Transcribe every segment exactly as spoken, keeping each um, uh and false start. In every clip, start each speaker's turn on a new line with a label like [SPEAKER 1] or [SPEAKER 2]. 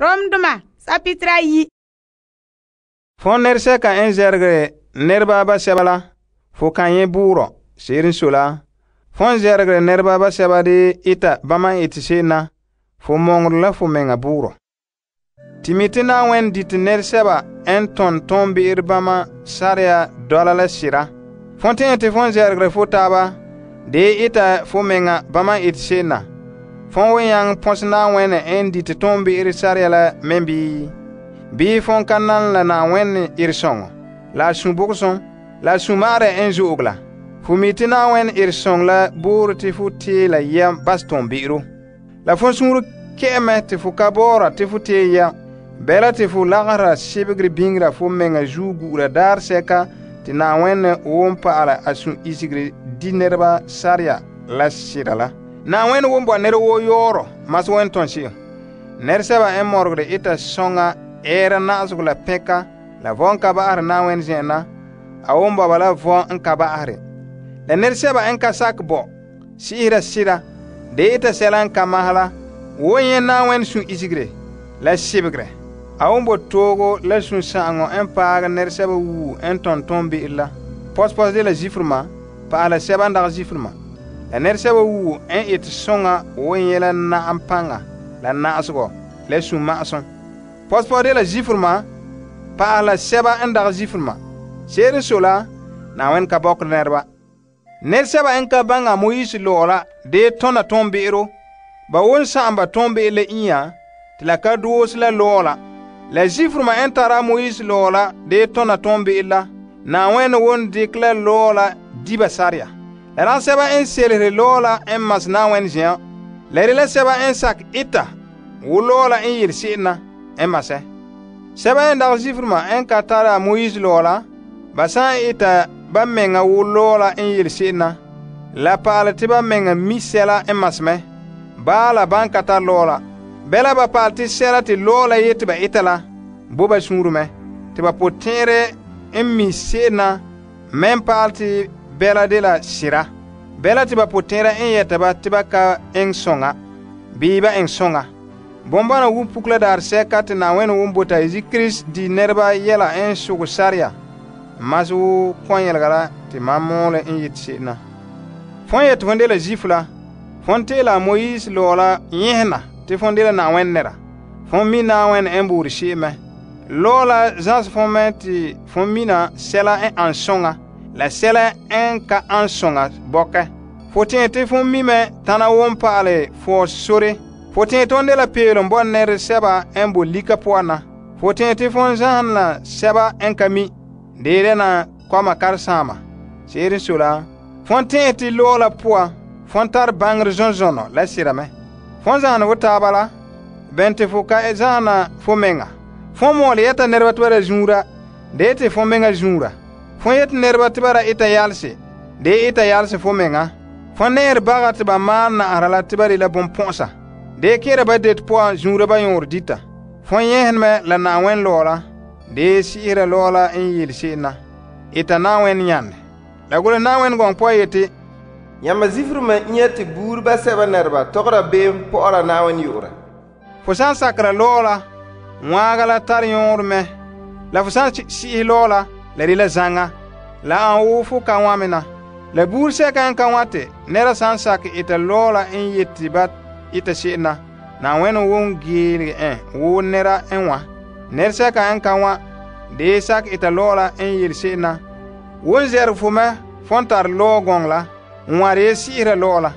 [SPEAKER 1] Romdoma sapitra yi.
[SPEAKER 2] Fon nerseka en zergere nerba ba seba la, fo kan ye buuro, serin sola. Fon zergere nerba ba seba de ita bama iti se'ena, fo mongro la fo menga buuro. Timiti na wen dit nerseba en ton ton bi'ir bama sarya dola la sira. Fon te ente fon zergere fo taba, de ita fo menga bama iti se'ena. Fon wen yang pons na wen en dit ton bi'ir sarya la men bi. Bi fon kan nan la na wen ir songo. La sun bukson, la sun mare en zo'ogla. Fo miti na wen ir song la bur ti fo te la yam bas ton bi'iro. La fon sunru ke'eme ti fo kabora ti fo te ya. Bela ti fo lagara sibigri bingra fo menga zu gura dar seka ti na wen won paala asun isigri di nerba sarya la sira la. Na wen won bo ner wo yoro mas wen ton si. Ner seba en morgre ita songa era naasug la peka la von ka baare na wen zena a won baba la von en ka baare. La ner seba en ka sak bo sihira sira de ita selan ka mahala won yen na wen sun isigre la sibigre. A won bo togo la sun sango en paaga ner seba wu en ton ton bi illa. Pos pos de la zifrma pa ala seba ndag zifrma. La ner seba wu en it songa won yela na ampanga la naasgo la sun ma'son. Pos pos de la zifrma pa ala seba en ndag zifrma. Serin sola na wen ka bok nerba. Ner seba en ka banga Moise lola de tona ton bi'iro. Ba won sa'amba ton bi le iya ti la ka doos la lola. La zifrma en tara Moise lola de tona ton bi illa. Na wen won dikla lola diba sarya. La ran seba en selere lola en mas na wen jian. La rila seba en sak ita wo lola en yir si'na en mase. Seba en dag zifrma en ka tara Moise lola. Ba san ita ba menga wo lola en yir si'na. La paala ti ba menga misela en masme. Ba la ban ka tar lola. Bela ba paal ti sela ti lola yeti ba ita la. Bo ba sunru me. Ti ba potere en mi si'na men paal ti bela de la sira. Bela ti ba potere en yeta ba ti ba ka en songa. Bi ba en songa. Bombana wu pukla dar seka ti na wen wun bota izi Chris di nerba yela en sugu sarya. Mas wu pon yelgala ti mamole en yit si'na. Fon yet fonde la zifla. Fon te la Moise lola yehna ti fon de la na wen nera. Fon mi na wen en buri si'me. Lola zans fon men ti fon mina sela en ansonga. La sela en ka ansonga boke. Fotin ti fon mi me tana won paale fo sore. Fotin ton de la pelon bon ner seba en bo lika poana. Fotin ti fon zan la seba en kami. Dere na kwama karsama. Serin sola. Fon tin ti lola poa. Fon tar bangre zonzono la sirame. Fon zan wotaba la. Bente fo ka zana fo menga. Fon mole yeta nerba twara zunra. De te fon menga zunra. Fon yet nerba twara ita yalse. De ita yalse fo menga. Fon ner baga tiba maan na arala tibari la bon ponsa. De kere ba det poa zunra ba yor dita. Fon yehen me la na wen lola. De siira lola en yil si'na. Ita na wen yande. La gole na wen gong poa yeti.
[SPEAKER 3] Yamba zifrma nyeti buur ba seba nerba togra beem po'ora na wen yura.
[SPEAKER 2] Fo san sakra lola. Mwaga la tar yor me. La fo san si'i lola. La rila zanga. La an wufu ka wamina. La buur seka en ka wate. Nera san sak ita lola en yeti bat ita si'na. Na wen won gilge en. Wo nera en wa. Ner seka en ka wa. De sak ita lola en yil si'na. Won zer fo me. Fon tar lo gong la. Nware si'ira lola.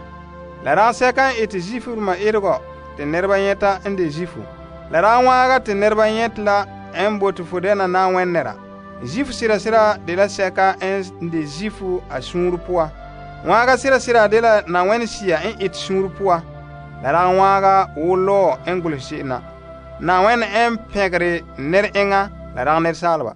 [SPEAKER 2] La ran seka en iti zifu ma irgo. Te nerba yeta en de zifu. La ran waga te nerba yet la en botu fudena na wen nera. Zifu sira sira de la seka en de zifu a sunru poa. Waga sira sira de la na wen siya en it sunru poa. La ran waga wo lo en gulsi'na. Na wen en pegre ner enga la ran ner salba.